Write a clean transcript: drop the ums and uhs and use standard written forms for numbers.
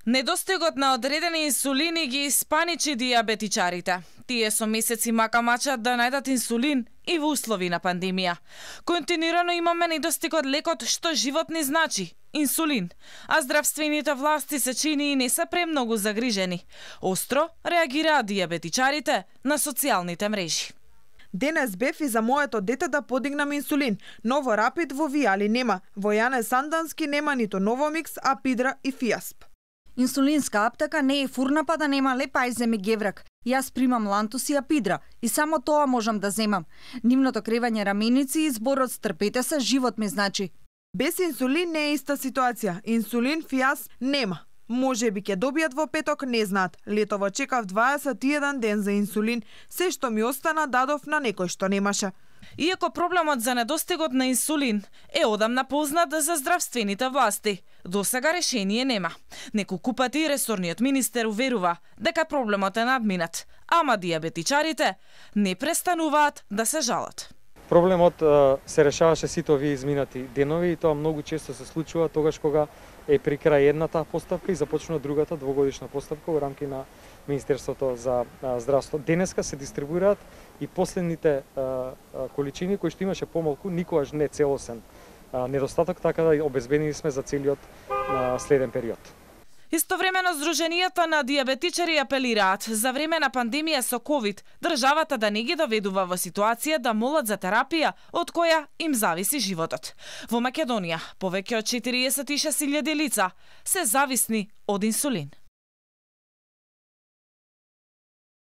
Недостигот на одредени инсулини ги испаничи диабетичарите. Тие со месеци макамачат да најдат инсулин и во услови на пандемија. Континуирано имаме недостиг од лекот што живот ни значи – инсулин, а здравствените власти се чини и не се премногу загрижени. Остро реагираат диабетичарите на социјалните мрежи. Денес бев и за моето дете да подигнам инсулин, но во Рапид во Вијали нема, во Јане Сандански нема ниту Новомикс, Апидра и Фијасп. Инсулинска аптека не е фурна па да нема Лепајзем и Геврак. Јас примам Лантус и Апидра и само тоа можам да земам. Нивното кревање раменици и зборот стрпете се, живот ми значи. Без инсулин не е иста ситуација. Инсулин Фијас нема. Може би ќе добијат во петок, не знаат. Летово чекав 21 ден за инсулин, се што ми остана дадов на некој што немаше. Иако проблемот за недостигот на инсулин е одамна познат за здравствените власти, досега решение нема. Неколку пати ресорниот министер уверува дека проблемот е надминат, ама диабетичарите не престануваат да се жалат. Проблемот се решаваше сите овие изминати денови и тоа многу често се случува тогаш кога е при крај едната поставка и започнува другата двогодишна поставка во рамки на Министерството за здравство. Денеска се дистрибуираат и последните количини кои што имаше помалку, никогаш не целосен недостаток, така да обезбедени сме за целиот следен период. Истовремено Сдруженијата на диабетичари апелираат за време на пандемија со ковид државата да не ги доведува во ситуација да молат за терапија од која им зависи животот. Во Македонија повеќе од 46.000 лица се зависни од инсулин.